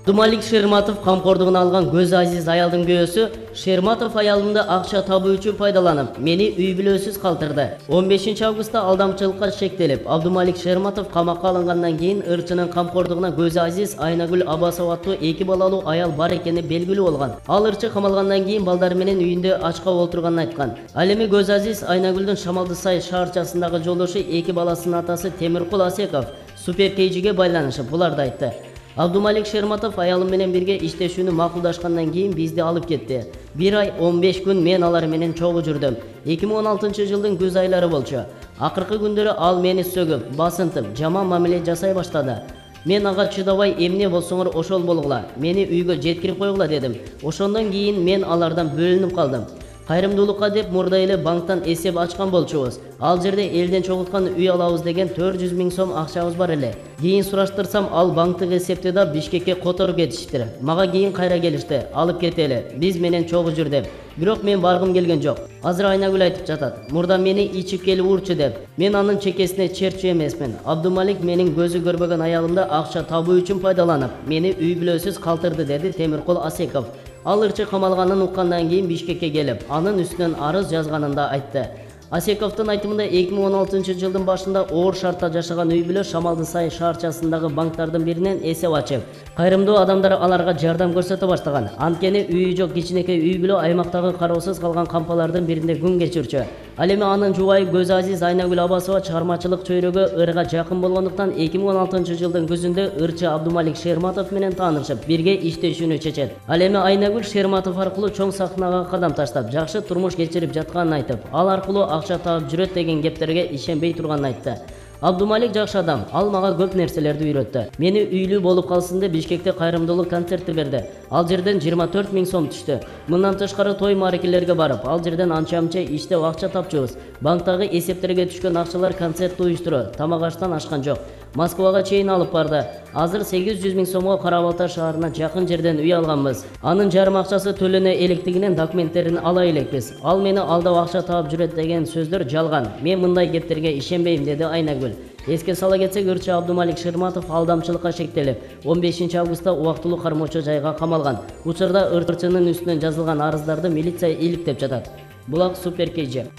Абдумалик Шерматов камкордугуна алган көз азиз аялдын күйөөсү Шерматов аялымды акча табуу үчүн пайдаланып, мени үй бүлөсүз калтырды. 15 августта алдамчылыкка шектелип, Абдумалик Шерматов камакка алынгандан кийин ырчынын камкордугуна көз азиз Айнагүл Абасова аттуу 2 балалуу аял бар экени белгилүү болгон. Ал ырчы камалгандан кийин балдары менен үйүндө ачка олтурганын айткан. Ал эми көз азиз Айнагүлдүн Шамалдысай шаарчасындагы жолдошу 2 баласынын атасы Темиркул Асеков суперкейжиге байланышып буларды айтты. Абдумалик Шерматов аялым менен бирге иштешүүнү макулдашкандан кийин бизди алып кетти. 1 ай 15 күн мен алар менен чогуу жүрдүм. 2016 жылдын күз айлары болчу. Акыркы күндөрү ал мени сөгүп, басынтып, жаман мамиле жасай баштады. Мен ага чыдабай, эмне болсоңор ошол болгула, мени үйгө жеткирип койгула дедим. Ошондон кийин мен алардан бөлүнүп калдым. Кайрымдуулукка деп мурда эле банктан эсеп ачкан болчубуз. Ал жерде элден чогулткан үй алабыз деген 400 000 сом акчабыз бар эле. Кийин сураштырсам, ал банктык эсепти да Бишкекке которуп кетиштир. Мага кийин кайра келишти, алып кетели, биз менен чогуу жүр деп. Бирок мен баргым келген жок. Азыр Айнагүл айтып жатат, мурда мени ичип келип урчу деп. Мен анын чекесине черчү эмесмин. Абдумалик менин көзү көрбөгөн аялымды акча табуу үчүн пайдаланып, мени үй бүлөсүз калтырды, деди Темиркул Асеков. Ал ырчы камалганын уккандан кийин Бишкекке келип, анын үстүнөн арыз жазганын да айтты. Асековдун айтымында 2016 жылдын башында оор шартта жашаган үй бүлө Шамалдысай шаарчасындагы банктардын биринен эсеп ачып, кайрымдуу адамдар аларга жардам көрсөтө баштаган. Анткени үйү жок кичинекей үй бүлө аймактагы кароосуз калган кампалардын биринде күн кечирчү. Ал эми анын жубайы көз азиз Айнагүл Абасова чыгармачылык чөйрөгө ырга жакын болгондуктан 2016 жылдын күзүндө ырчы Абдумалик Шерматов менен таанышып, бирге иштешүүнү чечет. Ал эми Айнагүл Шерматов аркылуу чоң сахнага кадам таштап, жакшы турмуш кечирип жатканын айтып, ал аркылуу акча таап жүрөт деген кептерге ишенбей турганын айтты. Абдумалик жакшы адам, ал мага көп нерселерди үйрөттү. Мени үйлүү болуп калсын деп Бишкекте кайрымдуулук концерти берди. Ал жерден 24 000 сом түштү. Мындан тышкары той марекелерге барып, ал жерден анча-мынча иштеп акча тапчубуз. Банктагы эсептерге түшкөн акчалар концерт уюштуруу, тамак аштан ашкан жок. Москвага чейин алып барды. Азыр 800 000 сомго Карабалта шаарына жакын жерден үй алганбыз. Анын жарым акчасы төлөнө электигинен документтерин ала элекпиз. Ал мени алдап акча таап жүрөт деген сөздөр жалган. Мен мындай кептерге ишенбейм, деди Айнагүл. Эске сала кетсек, ырчы Абдумалик Шерматов алдамчылыкка шектелип, 15 августта убактылуу кармоочу жайга камалган. Учурда ырчынын үстүнөн жазылган арыздарды милиция иликтеп жатат. Булак суперкейжи.